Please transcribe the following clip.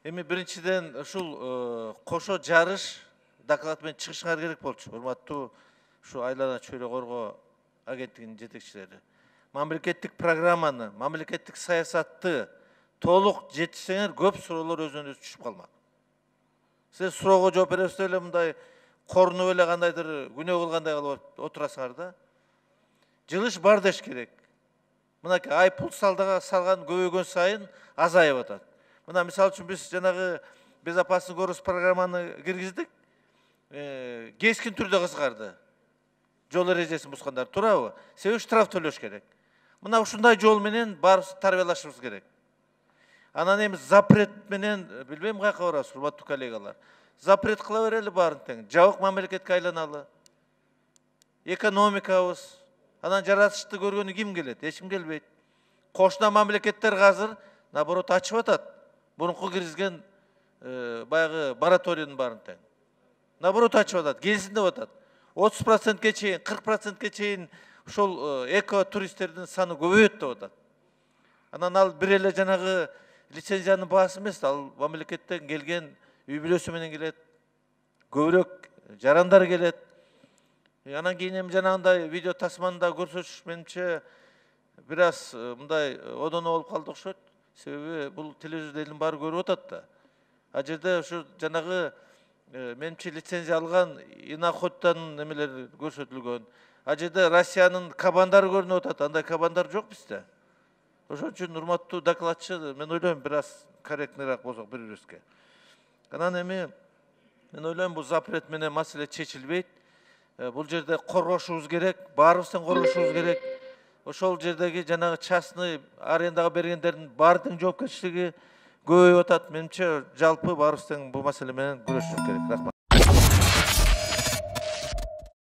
Эми биринчиден ушул кошо жарыш доклад менен чыгышыңар керек болчу. Урматтуу ушу айлана чөйрө коргоо агенттигинин жетекчилери. Мамлекеттик программаны, мамлекеттик саясатты толук жетишсеңер көп суроолор өзүнөн өзү түшүп калмак. Сиз суроого жооп бересиз эле мындай корунуп эле кандайдыр күнөө кылгандай кылып отурасыңар да. Жылыш бар деш керек. Мынакей айыппул салган көбөйгөн сайын азайып атат. Мына мисалы үчүн биз жанагы безопасный город программаны киргиздик. Кескин түрдө кызгарды. Жол эрежесин бузгандар туурабы? Себеби штраф төлөш керек. Мына ушундай жол менен баарыбыз тарбиялашыбыз керек. Анан эми запрет менен билбейм каяка барабыз, урматтуу коллегалар. Запрет кыла берели баарын тең. Жабык мамлекетке айланалы. Экономикабыз, анан жаратышты көргөнү ким келет? Эч ким келбейт. Кошуна мамлекеттер азыр наоборот ачып атат. Мурунку киргизген баягы мораторийдин баарын тең. Наоборот ачып атат, келсин деп атат. 30%ке чейин, 40%ке чейин ушул эко туристтердин саны көбөйөт деп атат. Анан ал бир эле жанагы лицензиянын баасы эмес, ал мамлекеттен келген үй бүлөсү менен келет. Көбүрөөк жарандар келет. Анан кийин эми жанагындай видео тасманы да көрсөтүш менимче бир аз мындай одоно болуп калды окшойт. Себеби бул телевизордо элдин баары көрүп атат да. А жерде ушу жанагы менимче лицензия алган иноходтан немелер көрсөтүлгөн. А жерде Россиянын кабандары көрүнүп атат. Андай кабандар жок бизде. Ошон үчүн урматтуу докладчы, мен ойлойм бир аз корректныйраак болсок бири-бирибизге. Анан эми мен ойлойм бул запрет менен маселе чечилбейт. Бул жерде коргошубуз керек, баарыбыздан коргошубуз керек. Ошол жердеги жанагы частный арендага бергендердин баардыгынын жоопкерчилиги көбөйүп атат. Менимче жалпы баарыбыз тең бул маселе менен күрөшүшүбүз керек. Рахмат.